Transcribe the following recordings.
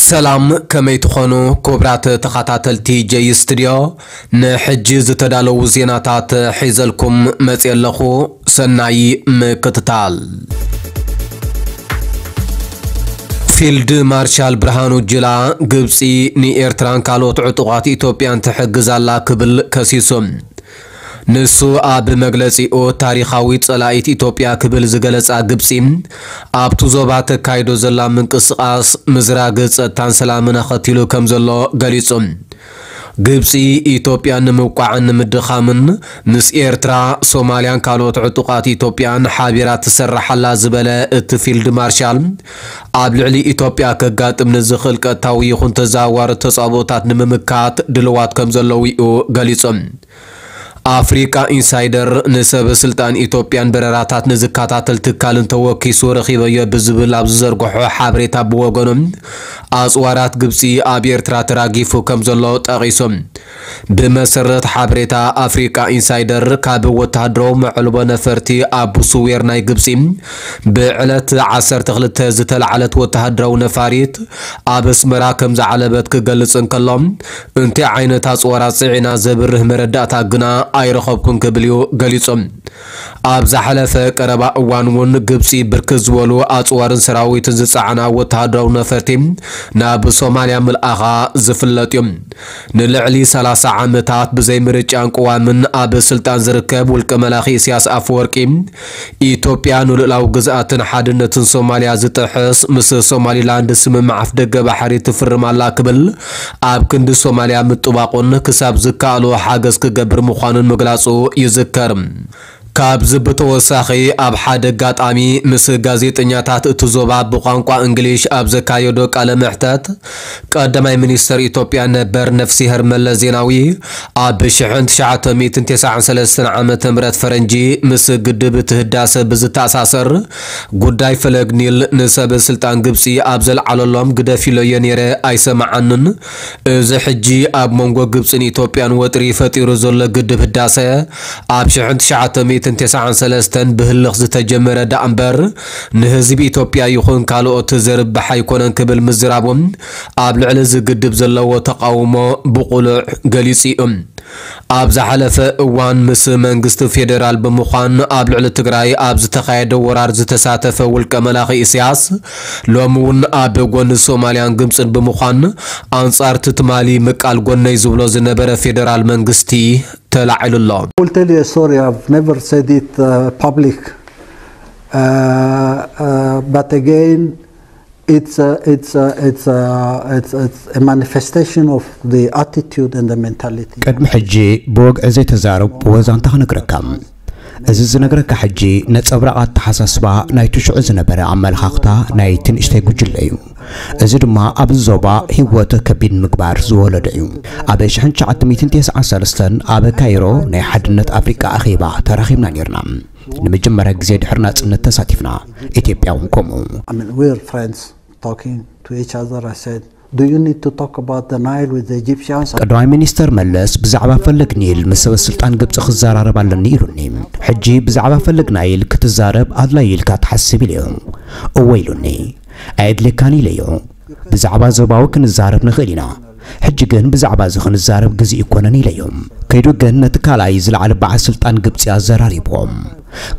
ሰላም፣ ከመይ ትኾኑ ክቡራት ተኸታተልቲ ጀይ ስቱድዮ? ንሕጂ ዝተዳለዉ ዜናታት ሒዘልኩም መፅየ ኣለኹ። ሰናይ ምክትታል። ፊልድ ማርሻል ብርሃኑ ጁላ፣ ግብፂ ንኤርትራን ካልኦት ዕጡቓት ኢትዮጵያን ትሕግዝ ኣላ ክብል ከሲሱ። ንሱ ኣብ መግለጺኡ፣ ታሪኻዊ ጸላኢት ኢትዮጵያ ክብል ዝገለጻ ግብጺ፣ ኣብቲ ዞባ ተካይዶ ዘላ ምንቅስቓስ ምዝራግ ጸጥታን ሰላምን ኣኸቲሉ ከም ዘሎ ገሊጹ። ግብጺ፣ ኢትዮጵያ ንምውቃዕን ንምድኻምን ምስ ኤርትራ፣ ሶማልያን ካልኦት ዕጡቓት ኢትዮጵያን ሓቢራ ትሰርሕ ኣላ ዝበለ እቲ ፊልድ ማርሻል፣ ኣብ ልዕሊ ኢትዮጵያ ከጋጥም ንዝኽእል ቀጥታዊ ይኹን ተዘዋዋሪ ተጻብኦታት ንምምካት ድልዋት ከም ዘለዉ እዩ ገሊጹ። ኣፍሪቃ ኢንሳይደር ንሰበ ስልጣን ኢትዮጵያን በረራታት ንዝከታተል ትካልን ተወኪሱ ረኺበዮ ብዝብል ኣብ ዝዘርግሖ ሓበሬታ፣ ብወገኑ ኣጽዋራት ግብጺ ኣብ ኤርትራ ተራጊፉ ከም ዘሎ ጠቒሱ። ብመሰረት ሓበሬታ ኣፍሪቃ ኢንሳይደር፣ ካብ ወተሃደራዊ መዕልቦ ነፈርቲ ኣቡ ሱዌር ናይ ግብጺ ብዕለት ዓሰርተ ክልተ ዝተላዕለት ወተሃደራዊ ነፋሪት ኣብ ኣስመራ ከም ዝዓለበት ክገልጽ እንከሎ፣ እንታይ ዓይነት ኣጽዋራት ጽዒና ዘብርህ መረዳእታ ግና ኣይረኸብኩን ክብል እዩ ገሊጹ። ኣብ ዝሓለፈ ቀረባ እዋን እውን ግብጺ ብርክት ዝበሉ ኣጽዋርን ሰራዊትን ዝጸዓና ወተሃደራዊ ነፈርቲ ናብ ሶማልያ ምልኣኻ ዝፍለጥ እዩ። ንልዕሊ ሰላሳ ዓመታት ብዘይ ምርጫን ቅዋምን ኣብ ስልጣን ዝርከብ ውልቀ መላኺ ኢሳያስ ኣፈወርቂ፣ ኢትዮጵያ ንልኡላዊ ግዝኣትን ሓድነትን ሶማልያ ዝጥሕስ ምስ ሶማሊላንድ ስምምዕ ኣፍደገ ባሕሪ ትፍርም ኣላ ክብል ኣብ ክንዲ ሶማልያ ምጥባቑን ክሳብ ዝከኣሎ ሓገዝ ክገብር ምዃኑን ምግላጹ ይዝከር። ካብዚ ብተወሳኺ፣ ኣብ ሓደ ኣጋጣሚ ምስ ጋዜጠኛታት እቲ ዞባ ብቋንቋ እንግሊሽ ኣብ ዘካየዶ ቃለ መሕተት፣ ቀዳማይ ሚኒስተር ኢትዮጵያ ነበር ነፍሲሄር መለስ ዜናዊ፣ ኣብ ሽሕን ትሽዓተ ሚእትን ተስዓን ሰለስተን ዓመተ ምህረት ፈረንጂ ምስ ግድብ እቲ ህዳሰ ብዝተኣሳሰር ጉዳይ ፈለግ ኒል ንሰበ ስልጣን ግብጺ ኣብ ዘልዓለሎም፣ ግደፍ ኢለዮ ነይረ፣ ኣይሰምዓንን። እዚ ሕጂ ኣብ መንጎ ግብጽን ኢትዮጵያን ወጥሪ ፈጢሩ ዘሎ ግድብ ህዳሰ፣ ኣብ ሽሕን ትሽዓተ ሚእትን ተስዓን ሰለስተን ብህልኽ ዝተጀመረ ደኣ እምበር፣ ንህዝቢ ኢትዮጵያ ይኹን ካልኦት ዘርብሕ ኣይኮነን ክብል ምዝራቦም፣ ኣብ ልዕሊ እዚ ግድብ ዘለዎ ተቓውሞ ብቑሉዕ ገሊጹ እዩ። ኣብ ዝሓለፈ እዋን ምስ መንግስቲ ፌደራል ብምዃን ኣብ ልዕሊ ትግራይ ኣብ ዝተኻየደ ወራር ዝተሳተፈ ውልቀ መላኺ ኢሳያስ፣ ሎሚ እውን ኣብ ጎኒ ሶማልያን ግብጽን ብምዃን ኣንጻር እቲ ትማሊ ምቃል ጎነይ ዝብሎ ዝነበረ ፌደራል መንግስቲ ተላዒሉ ኣሎ። I will tell you a story. I've never said it uh, public, uh, uh, but again, it's a, it's a, it's a, it's, it's a manifestation of the attitude and the mentality. ቅድሚ ሕጂ ብወግዒ ዘይተዛረብኩዎ ዛንታ ክነግረካ። እዚ ዝነግረካ ሕጂ ነጸብራቕ ኣተሓሳስባ ናይቲ ሽዑ ዝነበረ ኣመለኻኽታ ናይቲ ንእሽተይ ጉጅለ እዩ። እዚ ድማ ኣብዚ ዞባ ህይወት ከቢድ ምግባር ዝወለዶ እዩ። ኣብ ሽሕን ትሽዓተ ሚእትን ተስዓን ሰለስተን ኣብ ካይሮ ናይ ሓድነት ኣፍሪቃ ኣኼባ ተራኺብና ነይርና። ንመጀመርያ ግዜ ድሕሪ ናጽነት ተሳቲፍና፣ ኢትዮጵያ እውን ከምኡ። I mean, we're friends talking to each other. I said, "Do you need to talk about the Nile with the Egyptians?" ቀዳማይ ሚኒስተር መለስ ብዛዕባ ፈለግ ኒል ምስ ሰበ ስልጣን ግብጺ ክዘራረብ ኣለኒ ኢሉኒ። ሕጂ ብዛዕባ ፈለግ ናይል ክትዛረብ ኣድላይ ኢልካ ትሓስብ ኢለዮ። እወ ኢሉኒ። ኣየድልየካን ኢለዮ። ብዛዕባ ዞባዊ ክንዛረብ ንኽእል ኢና። ሕጂ ግን ብዛዕባ እዚ ክንዛረብ ግዜ ኣይኮነን ኢለዮ። ከይዱ ግን ነቲ ካልኣይ ዝለዓለ በዓል ስልጣን ግብጺ ኣዘራሪብዎ።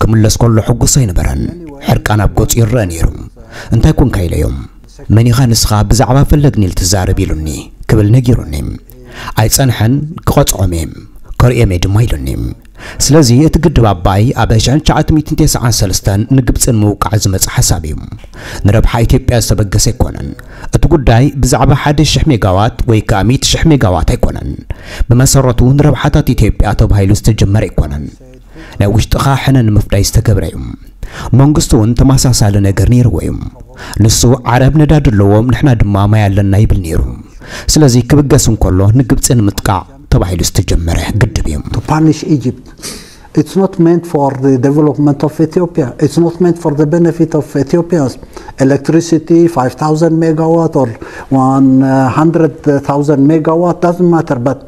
ክምለስ ከሎ ሕጉስ ኣይነበረን። ሕርቃን ኣብ ገጹ ይረአ ነይሩ። እንታይ ኮንካ ኢለዮ። መን ኢኻ ንስኻ ብዛዕባ ፈለግ ኒል ትዛረብ ኢሉኒ ክብል ነጊሩኒ። ኣይጸንሐን፣ ክቐጽዖም እየ፣ ከርእዮም እየ ድማ ኢሉኒ። ስለዚ እቲ ግድብ ኣባይ ኣብ ሽሕን ትሽዓተ ሚእትን ተስዓን ሰለስተን ንግብጺ ንምውቃዕ ዝመጸ ሓሳብ እዩ። ንረብሓ ኢትዮጵያ ዝተበገሰ ኣይኮነን። እቲ ጉዳይ ብዛዕባ ሓደ ሽሕ ሜጋዋት ወይ ከኣ ሚእቲ ሽሕ ሜጋዋት ኣይኮነን። ብመሰረቱ ንረብሓታት ኢትዮጵያ ተባሂሉ ዝተጀመረ ኣይኮነን። ናይ ውሽጥኻ ሕነ ንምፍዳይ ዝተገብረ እዩ። መንግስቱ እውን ተመሳሳሊ ነገር ነይርዎ እዩ። ንሱ ዓረብ ነዳዲ ኣለዎም፣ ንሕና ድማ ማይ ኣለና ይብል ነይሩ። ስለዚ ክብገስ እንከሎ ንግብጺ ንምጥቃዕ ተባሂሉ ዝተጀመረ ግድብ እዩ። To punish Egypt. It's not meant for the development of Ethiopia. It's not meant for the benefit of Ethiopians. Electricity, five thousand megawatt or one hundred thousand megawatt, doesn't matter. But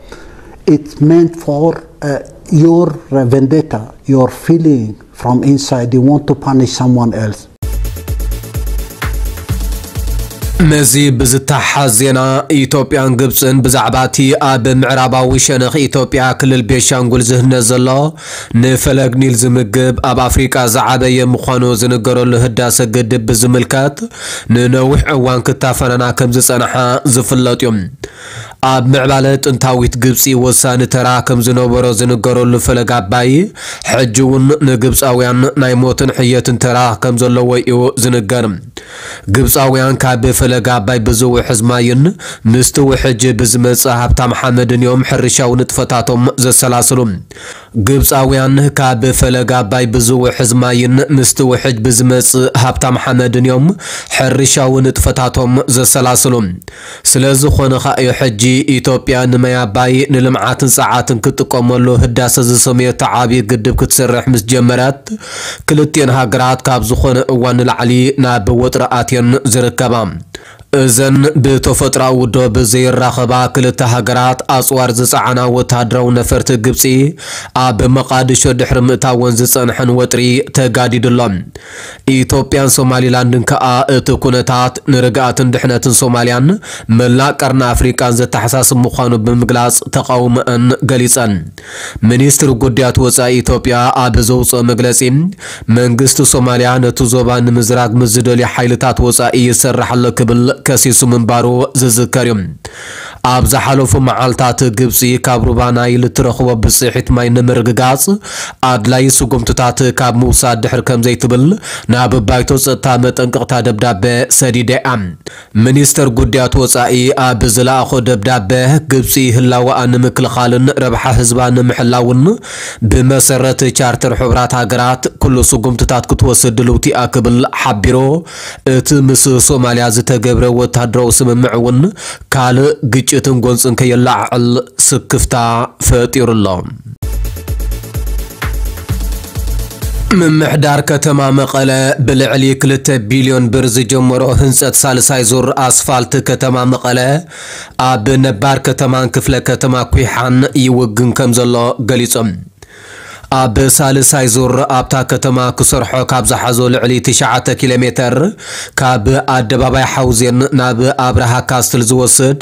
it's meant for uh, your vendetta, your feeling from inside. You want to punish someone else. ምስዚ ብዝተሓሓዝ ዜና፣ ኢትዮጵያን ግብጽን ብዛዕባ እቲ ኣብ ምዕራባዊ ሸነኽ ኢትዮጵያ ክልል ቤንሻንጉል ዝህነጽ ዘሎ ንፈለግ ኒል ዝምግብ ኣብ ኣፍሪቃ ዝዓበየ ምዃኑ ዝንገረሉ ህዳሰ ግድብ ብዝምልከት ንነዊሕ እዋን ክታፈናና ከም ዝጸንሓ ዝፍለጥ እዩ። ኣብ ምዕባለ ጥንታዊት ግብጺ ወሳኒ ተራ ከም ዝነበሮ ዝንገረሉ ፈለግ ኣባይ፣ ሕጂ እውን ንግብጻውያን ናይ ሞትን ሕየትን ተራ ከም ዘለዎ እዩ ዝንገር። ግብጻውያን ካብ ፈለግ ኣባይ ብዝውሕዝ ማይን ምስቲ ውሕጅ ብዝመጽእ ሃብታም ሓመድን እዮም ሕርሻዊ ንጥፈታቶም ዘሰላስሉ። ግብጻውያን ካብ ፈለግ ኣባይ ብዝውሕዝ ማይን ምስቲ ውሕጅ ብዝመጽእ ሃብታም ሓመድን እዮም ሕርሻዊ ንጥፈታቶም ዘሰላስሉ። ስለ ዝኾነ ኸኣ እዩ ሕጂ ኢትዮጵያ ንማይ ኣባይ ንልምዓትን ጸዓትን ክትጥቀመሉ ህዳሰ ዝሰመየቶ ዓብዪ ግድብ ክትሰርሕ ምስ ጀመረት፣ ክልቲኤን ሃገራት ካብ ዝኾነ እዋን ንላዕሊ ናብ ወጥሪ ኣትየን ዝርከባ። እዘን ብተፈጥሮኣዊ ዶብ ዘይራኸባ ክልተ ሃገራት፣ ኣጽዋር ዝጸዓና ወተሃደራዊ ነፈርቲ ግብጺ ኣብ መቓድሾ ድሕሪ ምእታወን ዝጸንሐን ወጥሪ ተጋዲዱ ኣሎ። ኢትዮጵያን ሶማሊላንድን ከኣ እቲ ኩነታት ንርግኣትን ድሕነትን ሶማልያን መላእ ቀርኒ ኣፍሪቃን ዘተሓሳስብ ምዃኑ ብምግላጽ ተቓውሞአን ገሊጸን። ሚኒስትሪ ጉዳያት ወጻኢ ኢትዮጵያ ኣብ ዘውጽኦ መግለጺ፣ መንግስቲ ሶማልያ ነቲ ዞባ ንምዝራግ ምስ ዝደልዩ ሓይልታት ወጻኢ ይሰርሕ ኣሎ ክብል ከሲሱ ምንባሩ ዝዝከር እዩ። ኣብ ዝሓለፉ መዓልታት ግብጺ ካብ ሩባ ናይል እትረኽቦ ብጽሒት ማይ ንምርግጋጽ ኣድላዪ ስጉምትታት ካብ ምውሳድ ድሕር ከም ዘይትብል ናብ ባይቶ ጸጥታ መጠንቀቕታ ደብዳበ ሰዲዳ እያ። ሚኒስተር ጉዳያት ወጻኢ ኣብ ዝለኣኾ ደብዳበ፣ ግብጺ ህላወኣ ንምክልኻልን ረብሓ ህዝባ ንምሕላውን ብመሰረት ቻርተር ሕቡራት ሃገራት ኩሉ ስጉምትታት ክትወስድ ድልውቲ እያ ክብል ሓቢሩ። እቲ ምስ ሶማልያ ዝተገብረ ወታደራዊ ስምምዕ እውን ካልእ ግጭትን ጎንጽን ከየለዓዕል ስክፍታ ፈጢሩ ኣሎ። ምምሕዳር ከተማ መቐለ ብልዕሊ ክልተ ቢልዮን ብር ዝጀመሮ ህንጸት ሳልሳይ ዙር ኣስፋልት ከተማ መቐለ ኣብ ነባር ከተማን ክፍለ ከተማ ኩሓን ይውግን ከም ዘሎ ገሊጾም። ኣብ ሳልሳይ ዙር ኣብታ ከተማ ክሰርሖ ካብ ዝሓዞ ልዕሊ ትሽዓተ ኪሎ ሜተር፣ ካብ ኣደባባይ ሓውዜን ናብ ኣብርሃ ካስትል ዝወስድ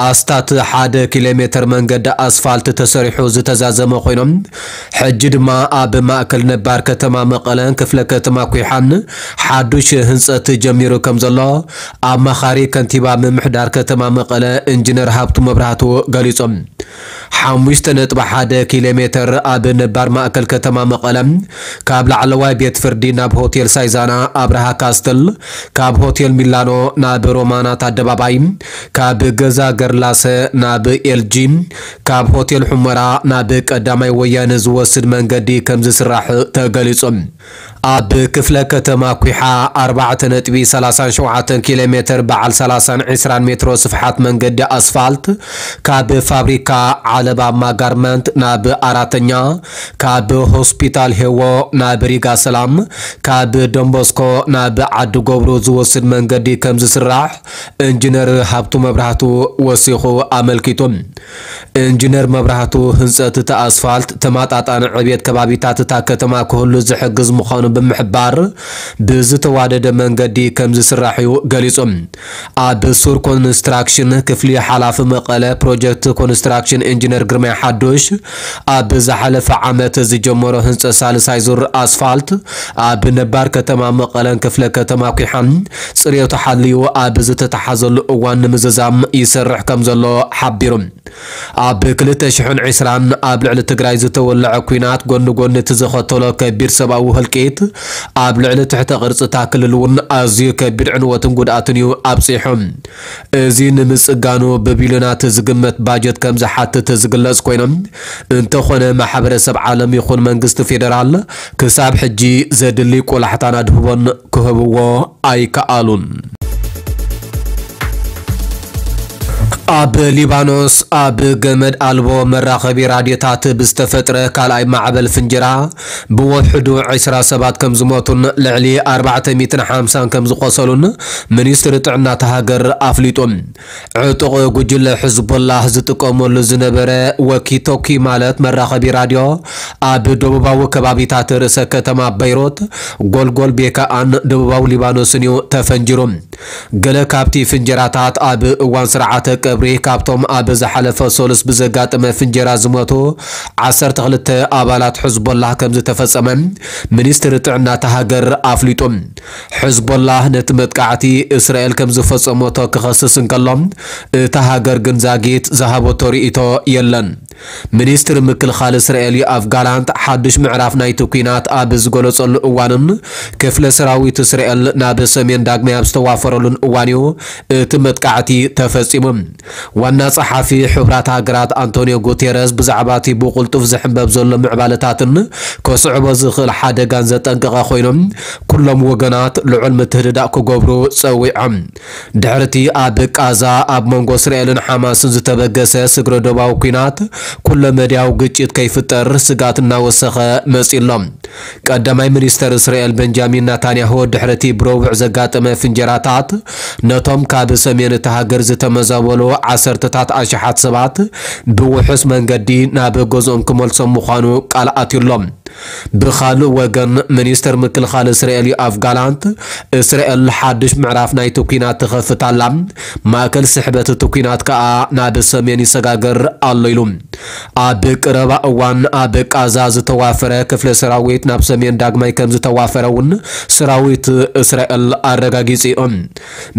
ኣስታት ሓደ ኪሎ ሜተር መንገዲ ኣስፋልት ተሰሪሑ ዝተዛዘመ ኮይኖም፣ ሕጂ ድማ ኣብ ማእከል ነባር ከተማ መቐለን ክፍለ ከተማ ኩሓን ሓዱሽ ህንጸት ጀሚሩ ከም ዘሎ ኣማኻሪ ከንቲባ ምምሕዳር ከተማ መቐለ ኢንጂነር ሃብቱ መብራህቱ ገሊጾም። ሓሙሽተ ነጥቢ ሓደ ኪሎ ሜተር ኣብ ነባር ማእከል ከተማ መቐለ፣ ካብ ላዕለዋይ ቤት ፍርዲ ናብ ሆቴል ሳይዛና ኣብርሃ ካስትል፣ ካብ ሆቴል ሚላኖ ናብ ሮማናት ኣደባባይ፣ ካብ ገዛ ገርላሰ ናብ ኤልጂ፣ ካብ ሆቴል ሑመራ ናብ ቀዳማይ ወያነ ዝወስድ መንገዲ ከም ዝስራሕ ተገሊጹ። ኣብ ክፍለ ከተማ ኩሓ ኣርባዕተ ነጥቢ ሰላሳን ሸውዓተን ኪሎ ሜተር በዓል ሰላሳን ዕስራን ሜትሮ ስፍሓት መንገዲ ኣስፋልት፣ ካብ ፋብሪካ ዓለባ ማጋርመንት ናብ ኣራተኛ፣ ካብ ሆስፒታል ሄዎ ናብ ሪጋ ሰላም፣ ካብ ደንቦስኮ ናብ ዓዲ ጎብሩ ዝወስድ መንገዲ ከም ዝስራሕ ኢንጂነር ሃብቱ መብራህቱ ወሲኹ ኣመልኪቱ። ኢንጂነር መብራህቱ፣ ህንጸት እቲ ኣስፋልት ተመጣጣኒ ዕብየት ከባቢታት እታ ከተማ ክህሉ ዝሕግዝ ምዃኑ ብምሕባር፣ ብዝተዋደደ መንገዲ ከም ዝስራሕ እዩ ገሊጹ። ኣብ ሱር ኮንስትራክሽን ክፍሊ ሓላፊ መቐለ ፕሮጀክት ኮንስትራክሽን ኢንጂነር ግርማይ ሓዱሽ፣ ኣብ ዝሓለፈ ዓመት ዝጀመሮ ህንጸት ሳልሳይ ዙር ኣስፋልት ኣብ ነባር ከተማ መቐለን ክፍለ ከተማ ኩሓን ጽሬቱ ሓልዩ ኣብ ዝተተሓዘሉ እዋን ንምዝዛም ይሰርሕ ከም ዘሎ ሓቢሩ። ኣብ ክልተ ሽሕን ዕስራን ኣብ ልዕሊ ትግራይ ዝተወለዐ ኲናት ጎኒ ጎኒ እቲ ዘኸተሎ ከቢድ ሰብኣዊ ህልቂት፣ ኣብ ልዕሊ ትሕተ ቅርጺ እታ ክልል እውን ኣዝዩ ከቢድ ዕንወትን ጉድኣትን እዩ ኣብጺሑ። እዚ ንምጽጋኑ ብቢልዮናት ዝግመት ባጀት ከም ዝሓትት ዝግለጽ ኮይኖም፣ እንተኾነ ማሕበረሰብ ዓለም ይኹን መንግስቲ ፌደራል ክሳብ ሕጂ ዘድሊ ቆላሕታን ኣድህቦን ክህብዎ ኣይከኣሉን። ኣብ ሊባኖስ ኣብ ገመድ ኣልቦ መራኸቢ ራድዮታት ብዝተፈጥረ ካልኣይ ማዕበል ፍንጀራ ብወሕዱ ዕስራ ሰባት ከም ዝሞቱን ልዕሊ ኣርባዕተ ሚእትን ሓምሳን ከም ዝቖሰሉን ሚኒስትሪ ጥዕና እታ ሃገር ኣፍሊጡ። ዕጡቕ ጉጅለ ሕዝቦላህ ዝጥቀመሉ ዝነበረ ወኪቶኪ ማለት መራኸቢ ራድዮ ኣብ ደቡባዊ ከባቢታት ርእሰ ከተማ በይሩት፣ ጎልጎል ቤካኣን ደቡባዊ ሊባኖስን እዩ ተፈንጂሩ። ገለ ካብቲ ፍንጀራታት ኣብ እዋን ስርዓተ ቀብሪ ካብቶም ኣብ ዝሓለፈ ሰሉስ ብዘጋጠመ ፍንጀራ ዝሞቱ ዓሰርተ ክልተ ኣባላት ሕዝቦላህ ከም ዝተፈጸመ ሚኒስትሪ ጥዕና እታ ሃገር ኣፍሊጡ። ሕዝቦላህ ነቲ መጥቃዕቲ እስራኤል ከም ዝፈጸመቶ ክኸስስ እንከሎ፣ እታ ሃገር ግን ዛጊት ዝሃበቶ ርእይቶ የለን። ሚኒስትሪ ምክልኻል እስራኤል ዮኣቭ ጋላንት ሓድሽ ምዕራፍ ናይቲ ኲናት ኣብ ዝገለጸሉ እዋንን ክፍለ ሰራዊት እስራኤል ናብ ሰሜን ዳግማይ ኣብ ዝተዋፈረሉን እዋን እዩ እቲ መጥቃዕቲ ተፈጺሙ። ዋና ጸሓፊ ሕቡራት ሃገራት ኣንቶኒዮ ጉቴረስ ብዛዕባ እቲ ብቕልጡፍ ዝሕንበብ ዘሎ ምዕባለታትን ከስዕቦ ዝኽእል ሓደጋን ዘጠንቀቐ ኮይኖም፣ ኩሎም ወገናት ልዑል ምትህድዳእ ክገብሩ ጸዊዖም። ድሕርቲ ኣብ ቃዛ ኣብ መንጎ እስራኤልን ሓማስን ዝተበገሰ ስግረ ዶባዊ ኲናት፣ ኩለ መድያዊ ግጭት ከይፍጠር ስጋት እናወሰኸ መጺኡ ኣሎ። ቀዳማይ ሚኒስተር እስራኤል በንጃሚን ናታንያሁ ድሕርቲ ብረቡዕ ዘጋጠመ ፍንጀራታት፣ ነቶም ካብ ሰሜን እታ ሃገር ዝተመዛበሉ ዓሰርተታት ኣሽሓት ሰባት ብውሑስ መንገዲ ናብ ገዝኦም ክመልሶም ምዃኑ ቃል ኣትዩ ኣሎ። ብኻልእ ወገን፣ ሚኒስተር ምክልኻል እስራኤል ዮኣቭ ጋላንት፣ እስራኤል ሓድሽ ምዕራፍ ናይቲ ኲናት ትኸፍት ኣላ፣ ማእከል ስሕበት እቲ ኲናት ከኣ ናብ ሰሜን ይሰጋገር ኣሎ ኢሉ። ኣብ ቀረባ እዋን ኣብ ቃዛ ዝተዋፈረ ክፍለ ሰራዊት ናብ ሰሜን ዳግማይ ከም ዝተዋፈረ እውን ሰራዊት እስራኤል ኣረጋጊጹ እዩ።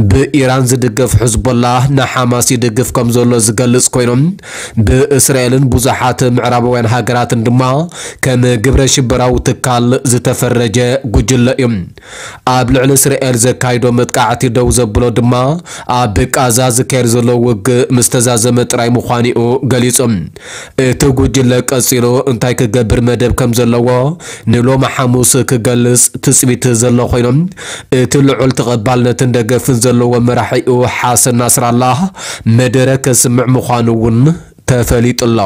ብኢራን ዝድገፍ ሕዝቦላህ ንሓማስ ይድግፍ ከም ዘሎ ዝገልጽ ኮይኖም፣ ብእስራኤልን ብዙሓት ምዕራባውያን ሃገራትን ድማ ከም ግብረ ሽበራዊ ትካል ዝተፈረጀ ጉጅለ እዩ። ኣብ ልዕሊ እስራኤል ዘካይዶ መጥቃዕቲ ደው ዘብሎ ድማ ኣብ ቃዛ ዝካየድ ዘሎ ውግእ ምስ ተዛዘመ ጥራይ ምዃኑ እዩ ገሊጹ። እቲ ጉጅለ ቀጺሉ እንታይ ክገብር መደብ ከም ዘለዎ ንሎሚ ሓሙስ ክገልጽ ትጽቢት ዘሎ ኮይኖም፣ እቲ ልዑል ተቐባልነትን ደገፍን ዘለዎ መራሒኡ ሓሰን ናስራላህ መደረ ከስምዕ ምዃኑ እውን ተፈሊጡ ኣሎ።